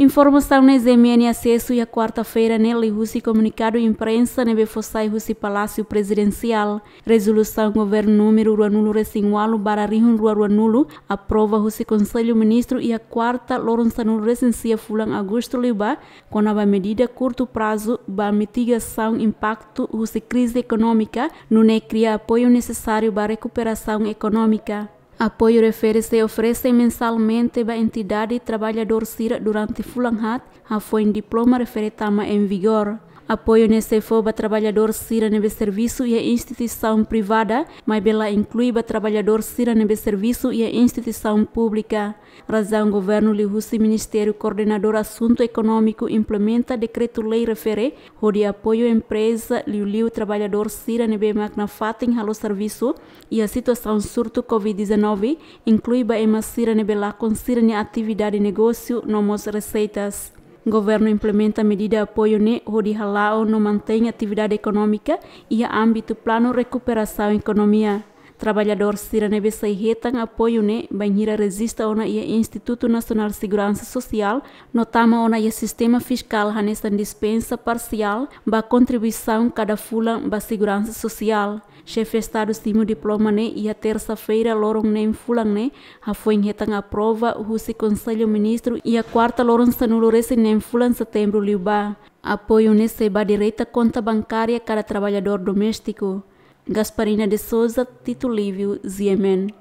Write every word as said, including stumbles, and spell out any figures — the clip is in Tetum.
Informasaun ne'e G M N asesu iha kuarta-feira ne'e liuhusi komunikadu imprensa ne'ebé fó sai husi Palásiu Prezidensiál. Rezolusaun Governu númeru ruanulu-resin-ualu barra rihun rua ruanulu aprova husi Konsellu Ministru iha kuarta loron sanulu-resin-sia fulan Agostu liubá, kona-ba medida kurtu prazu ba mitigasaun impaktu husi krize ekonómika, nune'e kria apoiu nesesáriu ba rekuperasaun ekonómika. Apoiu refere sei oferese mensalmente ba entidade traballadór sira durante fulan haat, hafoin diploma refere tama em vigor. Apoiu ne'e sei fó ba traballadór sira ne'ebé servisu iha instituisaun privada, maibé la inklui ba traballadór sira ne'ebé servisu iha instituisaun públika. Razaun Governu liuhusi Ministériu Koordenadór Asuntu Ekonómiku implementa dekretu-lei refere, hodi apoiu empreza, liuliu traballadór sira ne'ebé mak nafatin halo servisu iha situasaun surtu covid dezanove, inklui ba ema sira ne'ebé lakon sira-nia atividade negósiu no mós reseitas. Governu implementa medida apoiu ne'e hodi hala'o no mantein atividade ekonómika iha ámbitu planu rekuperasaun ekonomia. Traballadór sira ne'ebé sei hetan apoiu ne'e bainhira rejista ona iha Institutu Nasionál Seguransa Sosiál no tama ona iha sistema fiskál hanesan dispensa parsiál ba kontribuisaun kada fulan ba seguransa sosiál. Xefe Estadu simu diploma ne'e iha tersa-feira loron neen fulan ne'e, hafoin hetan aprova husi Konsellu Ministru iha kuarta loron sanulu-resin-neen fulan setembru liubá. Apoiu ne'e sei ba direta konta bankária kada traballadór doméstiku. Gasparina de Souza, Tito Lívio, G M N.